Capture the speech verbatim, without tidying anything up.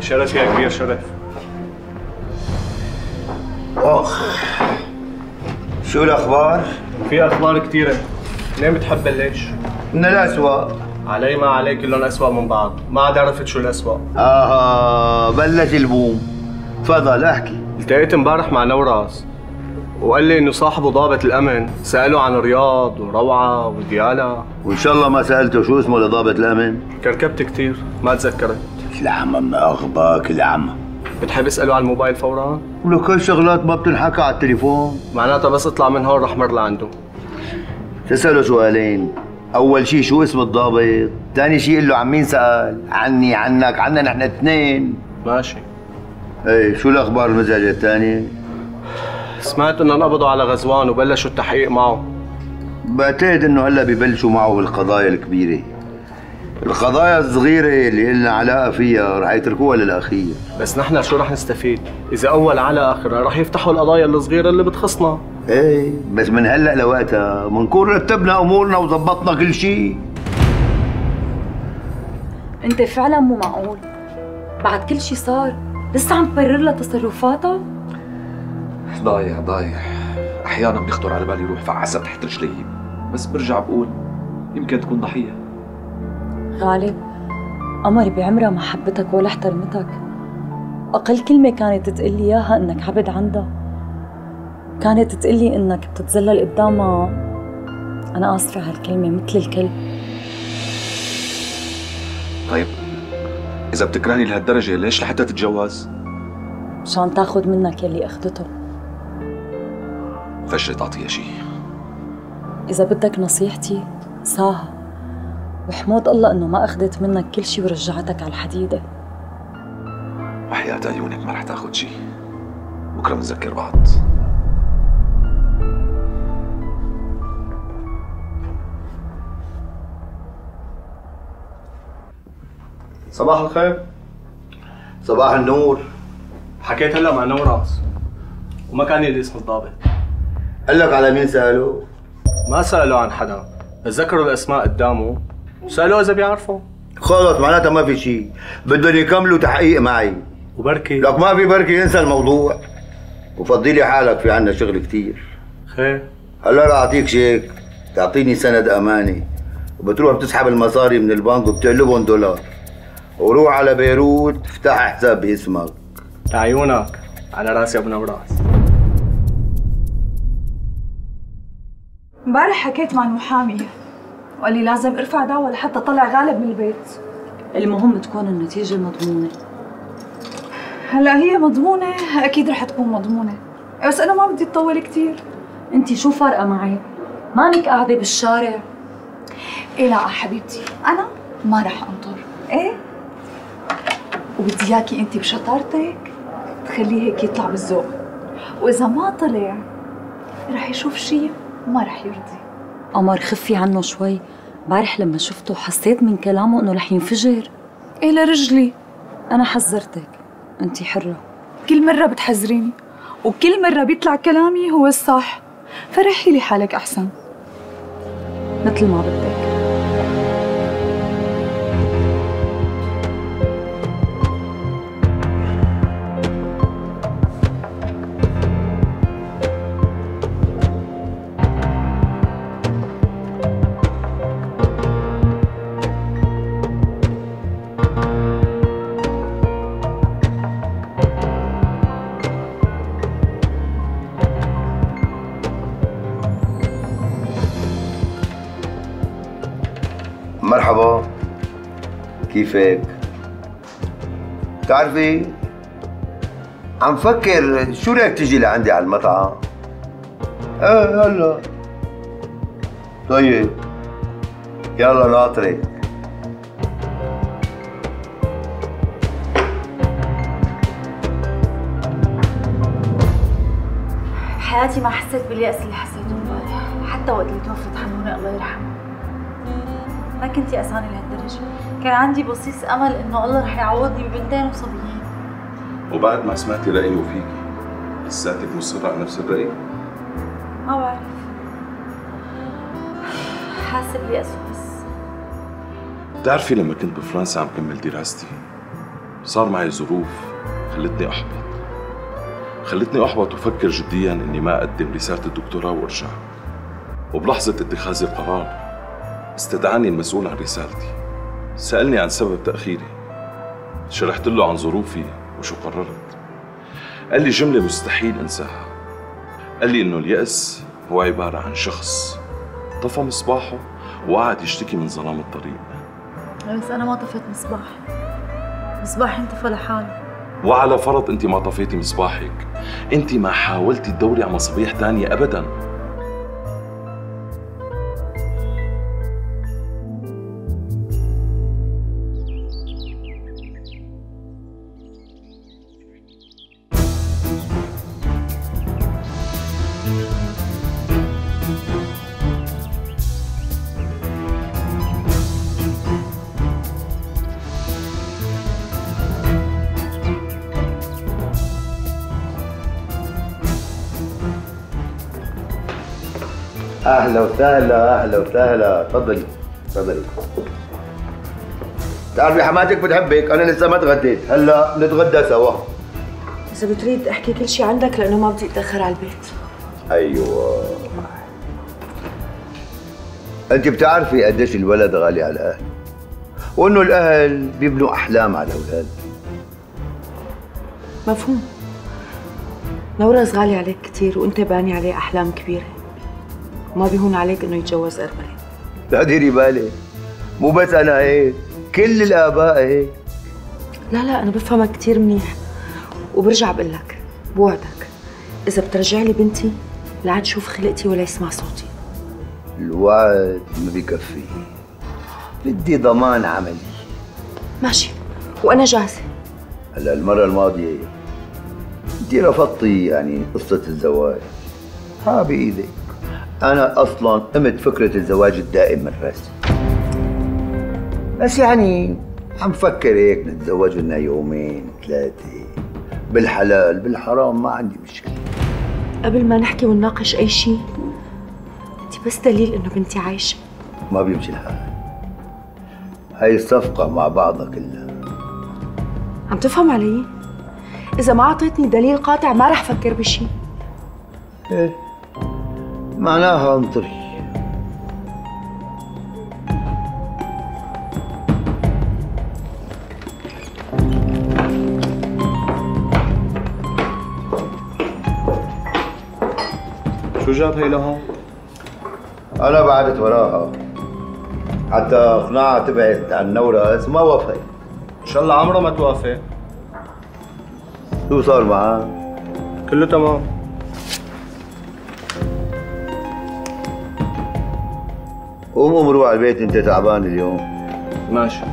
شرف يا كبير، شرف. اخ، شو الاخبار؟ في اخبار كثيرة. ليه بتحب بلش؟ من الاسوأ. علي ما علي كلهم اسوأ من بعض، ما عاد عرفت شو الاسوأ. اها بلش البوم. تفضل احكي. التقيت امبارح مع نوراس وقال لي انه صاحبه ضابط الامن سأله عن رياض وروعة وديالا. وان شاء الله ما سالته شو اسمه لضابط الامن؟ كركبت كثير ما تذكرت. العمى ما اغباك العمى. بتحب اساله على الموبايل فورا؟ ولك هالشغلات ما بتنحكى على التليفون. معناتها بس اطلع من هون رح مر لعنده. تساله سؤالين، اول شيء شو اسم الضابط؟ ثاني شيء قل له عن مين سال؟ عني عنك عنا نحن اثنين. ماشي. ايه شو الاخبار المزعجه الثانيه؟ سمعت انه انقبضوا على غزوان وبلشوا التحقيق معه. بعتقد انه هلا ببلشوا معه بالقضايا الكبيره. القضايا الصغيره اللي إلنا علاقه فيها رح يتركوها للاخير. بس نحن شو رح نستفيد؟ اذا اول على اخرها رح يفتحوا القضايا الصغيره اللي بتخصنا. ايه بس من هلا لوقتها بنكون رتبنا امورنا وظبطنا كل شيء. انت فعلا مو معقول. بعد كل شيء صار لسه عم تبرر لها تصرفاتها؟ ضايع ضايع. احيانا بيخطر على بالي روح فعسة تحت رجلي، بس برجع بقول يمكن تكون ضحيه. غالب، قمر بعمرها ما حبتك ولا احترمتك. اقل كلمه كانت تقلي اياها انك عبد عندها. كانت تقلي انك بتتذلل قدامها. انا اسفه هالكلمه مثل الكلب. طيب اذا بتكرهني لهالدرجه ليش لحتى تتجوز؟ مشان تاخذ منك يلي اخذته. فجري تعطيها شيء. اذا بدك نصيحتي ساها، وحمود الله انه ما اخذت منك كل شيء ورجعتك على الحديده. وحياة عيونك ما رح تاخذ شيء. بكره بنذكر بعض. صباح الخير. صباح النور. حكيت هلا مع نوراس وما كان لي اسم الضابط. قال لك على مين سالوا؟ ما سألوا عن حدا، بس ذكروا الاسماء قدامه وسألوه اذا بيعرفوا. خلص معناتها ما في شيء، بدهم يكملوا تحقيق معي. وبركي لك ما في بركي، انسى الموضوع وفضي لي حالك، في عنا شغل كثير. خير. هلا رح اعطيك شيك تعطيني سند امانه، وبتروح بتسحب المصاري من البنك وبتقلبهم دولار، وروح على بيروت افتح حساب باسمك. لعيونك على راسي ابو نوراس. امبارح حكيت مع المحامي وقال لي لازم ارفع دعوة لحتى طلع غالب من البيت. المهم تكون النتيجة مضمونة. هلا هي مضمونة، أكيد رح تكون مضمونة، بس أنا ما بدي تطول كثير. أنتِ شو فارقة معي؟ مانك قاعدة بالشارع. إيه لا حبيبتي، أنا ما رح أنطر، إيه؟ وبدي إياكي أنتِ بشطارتك تخليه هيك يطلع بالذوق، وإذا ما طلع رح يشوف شيء وما رح يرضي. قمر خفي عنه شوي، امبارح لما شفته حسيت من كلامه انه رح ينفجر. ايه لرجلي؟ انا حذرتك، انتي حرة. كل مرة بتحذريني وكل مرة بيطلع كلامي هو الصح، فرحي لي حالك احسن. مثل ما بدك. مرحبا، كيفك؟ بتعرفي عم فكر شو رايك تجي لعندي على المطعم؟ ايه هلا. طيب يلا ناطرك. حياتي ما حسيت باليأس اللي حسيته امبارح، حتى وقت اللي توفت حنونة الله يرحمها. ما كنتي أساني لهالدرجة، كان عندي بصيص أمل إنه الله رح يعوضني ببنتين وصبيين. وبعد ما سمعتي رأيه فيكي، لساتك مصرة على نفس الرأي؟ ما بعرف، حاسة باليأس بس. بتعرفي لما كنت بفرنسا عم كمل دراستي، صار معي ظروف خلتني أحبط خلتني أحبط وفكر جدياً إني ما أقدم رسالة الدكتوراه وأرجع. وبلحظة اتخاذ القرار استدعاني المسؤول عن رسالتي، سألني عن سبب تأخيري، شرحت له عن ظروفي وشو قررت. قال لي جملة مستحيل أنساها، قال لي إنه اليأس هو عبارة عن شخص طفى مصباحه وقعد يشتكي من ظلام الطريق. بس أنا ما طفيت مصباح، مصباحي انطفى لحاله. وعلى فرض أنت ما طفيتي مصباحك، أنت ما حاولتي تدوري على مصابيح تانية أبداً. اهلا وسهلا اهلا وسهلا، تفضلي تفضلي. بتعرفي حماتك بتحبك، انا لسه ما تغديت، هلا نتغدى سوا. إذا بتريد أحكي كل شيء عندك لأنه ما بدي أتأخر على البيت. ايوه. انت بتعرفي قديش الولد غالي على الاهل، وانه الاهل بيبنوا احلام على الاولاد. مفهوم. نورس غالي عليك كثير وأنت باني عليه أحلام كبيرة، وما بيهون عليك إنه يتجوز أرملة. لا ديري بالك، مو بس انا هيك، كل الاباء هيك. لا لا أنا بفهمك كثير منيح، وبرجع بقول لك بوعدك إذا بترجع لي بنتي لا عاد شوف خلقتي ولا يسمع صوتي. الوعد ما بكفي، بدي ضمان عملي. ماشي وأنا جاهزة. هلا المرة الماضية انت رفضتي يعني قصة الزواج، ها بإيدك. أنا أصلاً قمت فكرة الزواج الدائم من راسي، بس يعني عم فكر هيك نتزوج لنا يومين ثلاثة، بالحلال بالحرام ما عندي مشكلة. قبل ما نحكي ونناقش أي شيء، أنت بس دليل إنه بنتي عايشة. ما بيمشي الحال، هاي الصفقة مع بعضها كلها. عم تفهم علي؟ إذا ما أعطيتني دليل قاطع ما رح فكر بشيء. إيه معناها انطري. شو جاب هي لهون؟ أنا بعدت وراها حتى أقنعها تبعد عن نورس، ما وافقت. إن شاء الله عمرها ما توافق. شو صار معها؟ كله تمام. قوم قوم روح على البيت، أنت تعبان اليوم. ماشي.